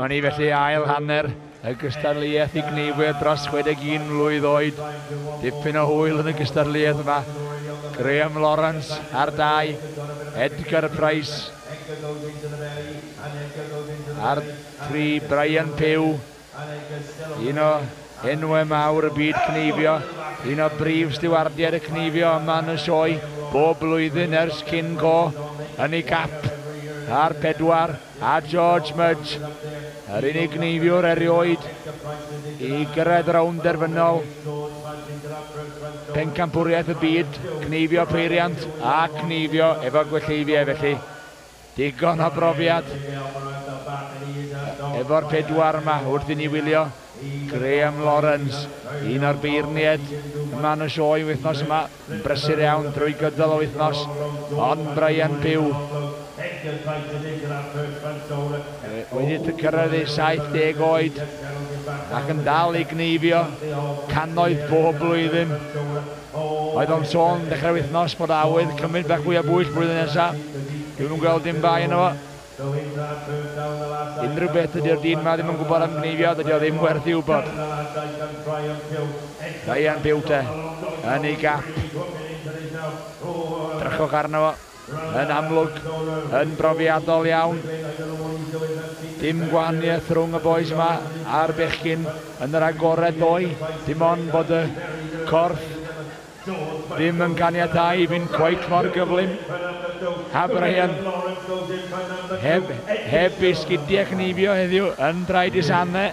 Dyma ni felly ail hanner y gystadleuaeth i gneifwyr dros 61 mlwydd oed. Dipyn o hwyl yn y gystadleuaeth yma. Graham Lawrence ar 2, Edgar Price ar 3, Brian Pugh, un o enwau mawr y byd cneifio, un o brif stiwardiaid y cneifio yma yn y sioe, bob blwyddyn ers cyn go, yn ei gap ar 4, a George Mudge, yr unig gneifiwr erioed i gyrraedd rownd derfynol pencampwriaeth y byd, cneifio peiriant a cneifio efo gwelleifiau, felly digon o brofiad efo'r 4 yma wrth i ni wylio Graham Lawrence, un o'r beirniaid yma yn y sioe wythnos yma, yn brysur iawn drwy gydol o wythnos, ond Brian Pugh wedi cyrraedd ei 70 oed ac yn dal i gneifio cannoedd bob blwyddyn. Oedd o'n sôn dechrau wythnos bod awydd cymryd bach fwy o bwyll blwyddyn nesaf. Dwi'm yn gweld dim bai yno fo. Unrhyw beth ydy'r dyn ma ddim yn gwybod am gneifio, dydy o ddim werth i wybod. Brian Pugh te, yn ei gap. Drychwch arno fo, yn amlwg, yn brofiadol iawn. Dim gwahaniaeth rhwng y boys yma a'r bechgyn yn yr agored ddoe. Dim ond bod y corff ddim yn caniatáu i fynd cweit mor gyflym. A Brian, heb ei sgidiau cneifio heddiw, yn draed i sanau.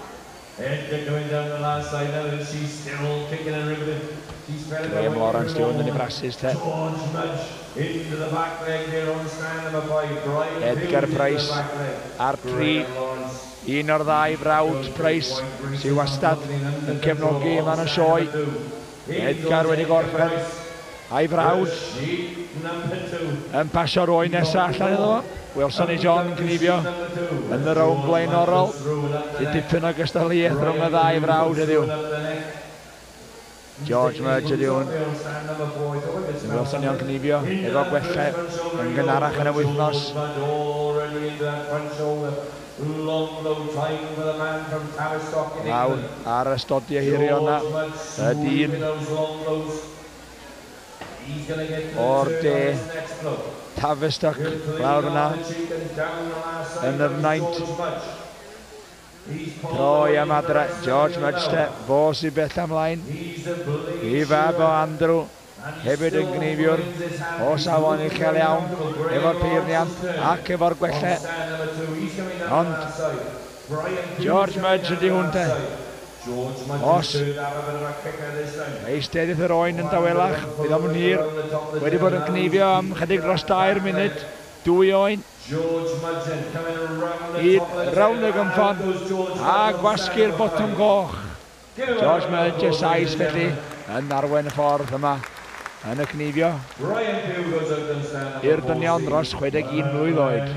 Graham Lawrence di hwn yn ei brasus te. Edgar Price ar 3, un o'r ddau frawd Price sydd wastad yn cefnogi yma yn y sioe. Edgar wedi gorffen a'i frawd yn pasio'r oen nesaf allan iddo fo. Welson ni John yn cneifio yn y rownd blaenorol. Sy'n dipyn o gystadleuaeth rhwng y ddau frawd heddiw. George Mudge ydy hwn. Welson ni o'n cneifio efo gwellau yn gynharach yn y wythnos. Lawr ar y stodiau hirion yna, y dyn o'r de, Tavistock, lawr yna, yn y fnaint. Troi am adre, George Mudge te, fo sy'n bell ymlaen, i fab o Andrew, hefyd yn gneifiwr o safon uchel iawn, efo'r peiriant ac efo'r gwellau. Ond George Mudge ydy hwn te. Os eisteddith yr oen yn dawelach, bydd o'm yn hir, wedi bod yn gneifio am chydig dros 2 munud, 2 oen. I rownd y gynffon a gwasgu'r botwm goch. George Mudge y Sais felly yn arwain y ffordd yma yn y cneifio i'r dynion dros 61 mlwydd oed.